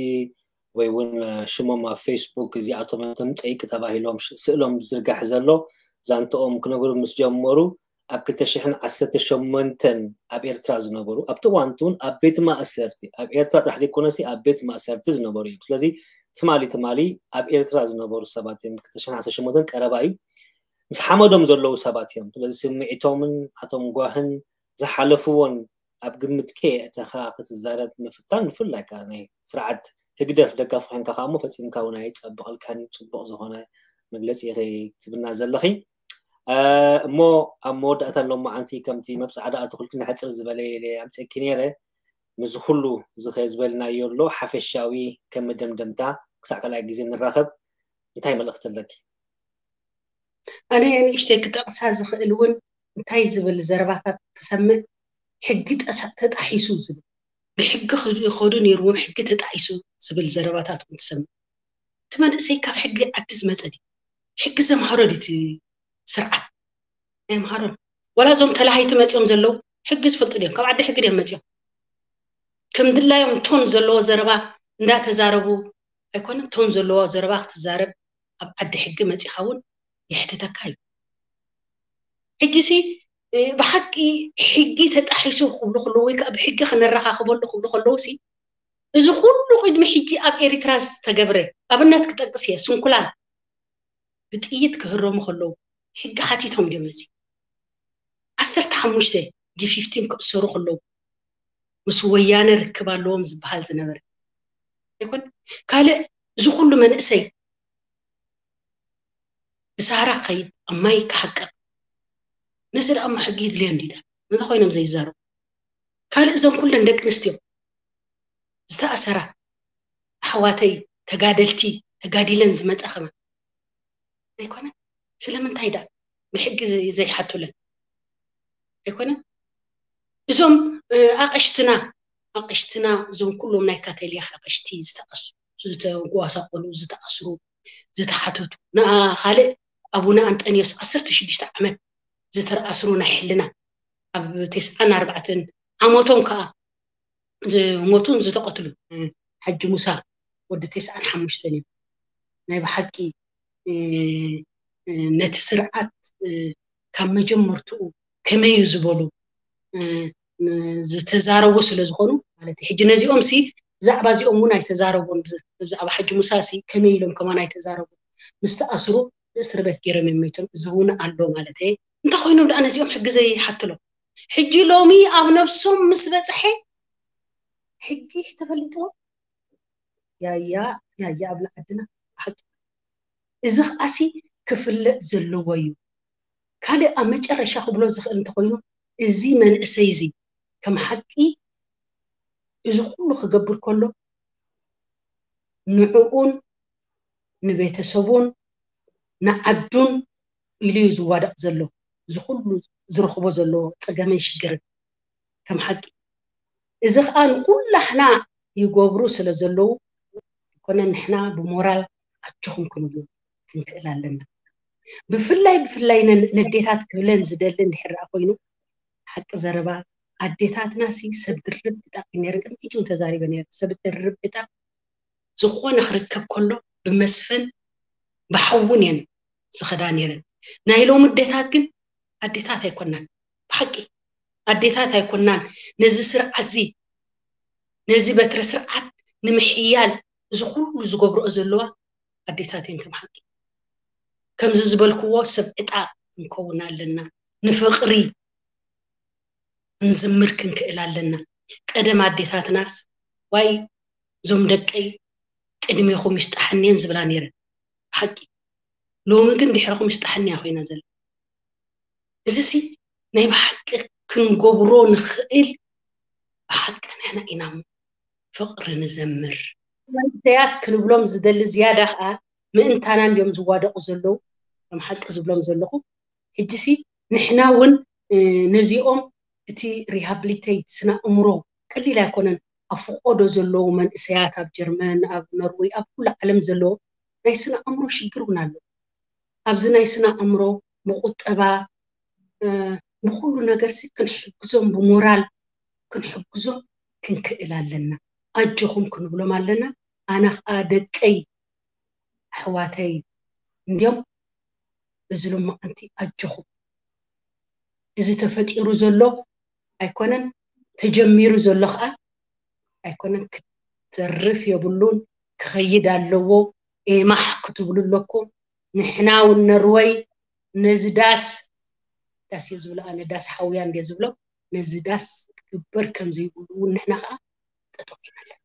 ወይ እውን ሽሞም ኣብ ፌስቡክ እዚኣቶም ተምፀይቂ ተባሂሎም ስእሎም ዝርጋሕ ዘሎ ዛንትኦም ክነግሩ ምስ ጀመሩ ኣብ ክልተ ሽሕን ዓሰርተ ሸሞንተን ኣብ ኤርትራ ዝነበሩ ኣብቲ እዋንቲ እውን ኣብ ቤት ማእሰርቲ ኣብ ኤርትራ ጥራሕ ዘይኮነሲ ኣብ ቤት ማእሰርቲ ዝነበሩ እዮም። ስለዚ ትማሊ ትማሊ ኣብ ኤርትራ ዝነበሩ ሰባት እዮም። ክልተ ሽሕን ዓሰርተ ሸሞንተን ቀረባ እዩ። ምስ ሓመዶም ዘለዉ ሰባት እዮም። ስለዚ ስምዒቶምን ኣቶም ጓህን ዝሓለፍዎን ኣብ ግምት ከየእተኻ ክትዛረብ ምፍታን ብፍላይ ከዓ ናይ ስርዓት ህግደፍ ደጋፊ ኮይንካ ከዓ እሞ ፈፂምካ እውን ኣይፀብቐልካን እዩ። ፅቡቕ ዝኾነ መግለፂ ኢኺ ትብና ዘለኺ። እሞ ኣብ መወዳእታ ሎማዓንቲ ከምቲ መብፃዕዳ ኣትኹልኪ ንሕፅር ዝበለ ኢለ ኣምፀኪ ነይረ። ምስዚ ኩሉ እዚ ከ ዝበልናዮ ኣሎ ሓፈሻዊ ከም መደምደምታ ክሳዕ ካልኣይ ግዜ ንራኸብ እንታይ መልእኽቲ ኣለኪ? ኣነ ንእሽተይ ክጠቕሳ ዝኽእል እውን እንታይ ዝብል ዘረባታት ትሰምዕ፣ ሕጊ ጠሳ- ተጣሒሱ ዝብል፣ ብሕጊ ክኸዱ ነይርዎም፣ ሕጊ ተጣሒሱ ዝብል ዘረባታት እውን ትሰምዕ። እቲ መንእሰይ ካብ ሕጊ ዓዲ ዝመፀ ድዩ? ሕጊ ዘምሃሮ ድዩ እቲ ስርዓት? ኣይምሃሮን። ዋላ እዞም ተላሃይቲ መፂኦም ዘለዉ ሕጊ ዝፈልጡ ድዮም? ካብ ዓዲ ሕጊ ድዮም መፂኦም? ከም ድላዮም ቶን ዘለዎ ዘረባ እንዳተዛረቡ ኣይኮነን፣ ቶን ዘለዎ ዘረባ ክትዛረብ ኣብ ዓዲ ሕጊ መፂኻ እውን የሕትተካ እዩ። ሕጂሲ ብሓቂ ሕጊ ተጣሒሱ ክብሉ ከለዉ ወይ ከዓ ብሕጊ ክነረኻኽበሉ ክብሉ ከለዉ ሲ እዚ ኩሉ ቅድሚ ሕጂ ኣብ ኤሪትራ ዝተገብረ ኣብነት ክጠቅስ እየ። ስንኩላን ብጥይት ክህረሙ ከለዉ ሕጊ ሓቲቶም ድዮም ነዚ ዓሰርተ ሓሙሽተ ጂ ፊፍቲን ክእሰሩ ከለዉ ምስ ወያነ ርክብ ኣለዎም ዝበሃል ዝነበረ ኣይኮነ ካልእ እዚ ኩሉ መንእሰይ ብሳህራ ክኸይድ ኣብ ማይ ክሓቅቕ ነዚ ደኣ እሞ ሕጊ ይድልዮ እንዲዳ ነዚ ኮይኖም ዘይዛረቡ ካልእ እዞም ኩለን ደቂ ኣንስትዮ ዝተኣሰራ ኣሕዋተይ ተጋደልቲ ተጋዲለን ዝመፃ ከማ ኣይኮነ ስለምንታይ ደኣ ብሕጊ ዘይሓቱለን ኣይኮነ እዞም ኣቐሽትና ኣቐሽትና እዞም ኩሎም ናይ ካቶሊክ ኣቐሽቲ ዝተኣሱ ዝተጓሳቆሉ ዝተኣስሩ ዝተሓተቱ ንኣ ካልእ ኣቡነ ኣንጠንዮስ ዓሰርተ ሽዱሽተ ዓመት ዝተረኣስሩ ናይ ሕልና ኣብ ተስዓን ኣርባዕተን ዓመቶም ከዓ ዝሞቱን ዝተቐትሉ ሓጂ ሙሳ ወዲ ተስዓን ሓሙሽተን እዮም ናይ ብሓቂ ነቲ ስርዓት ካብ መጀመርትኡ ከመይ እዩ ዝበሉ ዝተዛረቡ ስለ ዝኾኑ ማለት እዩ። ሕጂ ነዚኦም ሲ ብዛዕባ እዚኦም እውን ኣይተዛረቡን። ብዛዕባ ሓጂ ሙሳ ሲ ከመይ ኢሎም ከማን ኣይተዛረቡን። ምስ ተኣስሩ ብእስር ቤት ገይሮም እዮም መይቶም። እዚ እውን ኣሎ ማለት እየ። እንታይ ኮይኖም ደኣ ነዚኦም ሕጊ ዘይሓትሎም? ሕጂ ሎሚ ኣብ ነብሶም ምስ በፅሐ ሕጊ ተፈሊጥዎም ያያ ያያ ኣብላ ዓድና ሓቂ እዚ ከኣሲ ክፍለጥ ዘለዎ እዩ። ካልእ ኣብ መጨረሻ ክብሎ ዝኽእል እንተኾይኑ እዚ መንእሰይ እዚ ከም ሓቂ እዚ ኩሉ ክገብር ከሎ ንዕኡን ንቤተሰቡን ንዓዱን ኢሉ እዩ ዝዋዳቕ ዘሎ እዚ ኩሉ ዝረኽቦ ዘሎ ፀገምን ሽግርን ከም ሓቂ እዚ ከዓ ንኩላሕና ይገብሩ ስለ ዘለዉ ኣይኮነ ንሕና ብሞራል ኣጆኹም ክንብሉ ክንክእል ኣለና ብፍላይ ብፍላይ ነዴታት ክብለን ዝደሊ እንድሕር ደኣ ኮይኑ ሓቂ ዘረባ ኣዴታትና ሲ ሰብ ድርብ ብጣቂ ነይረን ቅድሚ ሕጂ እውን ተዛሪበ ነይረ ሰብ ድርብ ብጣቂ ዝኾነ ክርከብ ከሎ ብመስፍን ብሓውን እየን ዝኸዳ ነይረን ናይ ሎሚ ኣዴታት ግን ኣዴታት ኣይኮናን ብሓቂ ኣዴታት ኣይኮናን ነዚ ስርዓት እዚ ነዚ በትረ ስርዓት ንምሕያል እዚ ኩሉ ዝገብርኦ ዘለዋ ኣዴታት እየን ከም ሓቂ ከምዚ ዝበልክዎ ሰብ ዕጣ ክንከውን ኣለና ንፍቕሪ ክንዝምር ክንክእል ኣለና ቀደም ኣዴታትናስ ዋይ እዞም ደቀይ ቅድሜኹም ይስጣሕንየን ዝብላ ነይረን ሓቂ ሎሚ ግን ድሕርኹም ይስጣሕንያ ኮይና ዘላ እዚ ሲ ናይ ብሓቂ ክንገብሮ ንኽእል ብሓቂ ንሕና ኢና ፍቕሪ ንዘምር መንእሰያት ክንብሎም ዝደሊ ዝያዳ ከዓ ምእንታና እንዲዮም ዝዋደቑ ዘለዉ ከም ሓቂ ዝብሎም ዘለኹ ሕጂ ሲ ንሕና እውን ነዚኦም እቲ rehabilitate ስነ ኣእምሮ ቀሊል ኣይኮነን ኣብ ፍቆዶ ዘለዉ መንእሰያት ኣብ ጀርመን ኣብ ኖርወይ ኣብ ኩሉ ዓለም ዘለዎ ናይ ስነ ኣእምሮ ሽግር እውን ኣሎ ኣብዚ ናይ ስነ ኣእምሮ ብቁጠባ ብኩሉ ነገር ሲ ክንሕግዞም ብሞራል ክንሕግዞም ክንክእል ኣለና ኣጆኹም ክንብሎም ኣለና ኣነ ከዓ ደቀይ ኣሕዋተይ እንዲዮም እዚ ሎማዓንቲ ኣጆኹም እዚ ተፈጢሩ ዘሎ ኣይኮነን ተጀሚሩ ዘሎ ከዓ ኣይኮነን ክትተርፍ የብሉን ክኸይድ ኣለዎ ኤማሕ ክትብሉ ኣለኩም ንሕና እውን ነርወይ ነዚ ዳስ ዳስ እየ ዝብሎ ኣነ ዳስ ሓውያ እንደ ዝብሎ ነዚ ዳስ ክግበር ከም ዘይብሉ እውን ንሕና ከዓ ጠጠው ኢና ኣለና